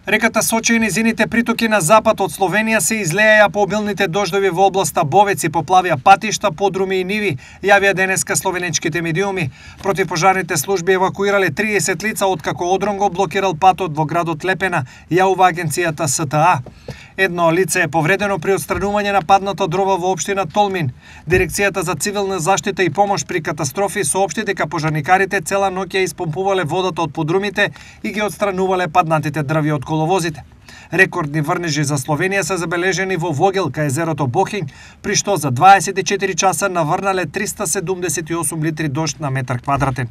Реката Сочи и низините притоки на запад од Словенија се излеја по обилните дождови во областа Бовец и поплавија патишта, подруми и ниви, јавија денеска словенечките медиуми. Противпожарните служби евакуирале 30 лица откако одром го блокирал патот во градот Лепена, јавува агенцијата СТА. Едно лице е повредено при отстранување на падната дрова во општина Толмин. Дирекцијата за цивилна заштита и помош при катастрофи соопшти дека пожарникарите цела ноќ ја испомпувале водата од подрумите и ги отстранувале паднатите дрви од коловозите. Рекордни врнежи за Словенија се забележени во Вогел кај езерото Бохинг, при што за 24 часа наврнале 378 литри дожд на метар квадратен.